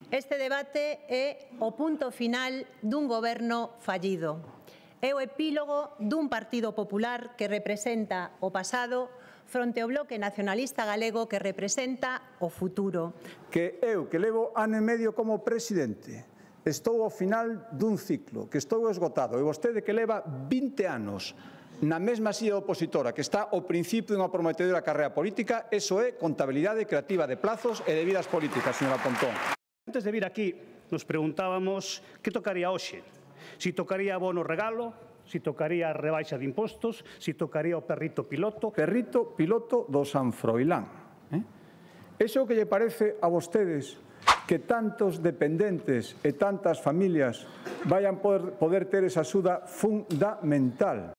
Este debate é o punto final dun goberno fallido. É o epílogo dun Partido Popular que representa o pasado fronte ao Bloque Nacionalista Galego que representa o futuro. Que eu, que levo ano e medio como presidente, estou ao final dun ciclo, que estou esgotado, e vostede que leva 20 anos na mesma silla opositora, que está ao principio dunha prometedora carreira política, eso é contabilidade creativa de plazos e de vidas políticas, señora Pontón. Antes de vir aquí, nos preguntábamos que tocaría hoxe. Si tocaría bono regalo, si tocaría rebaixa de impostos, si tocaría o perrito piloto. Perrito piloto do San Froilán. Eso que lle parece a vostedes que tantos dependentes e tantas familias vayan poder ter esa axuda fundamental.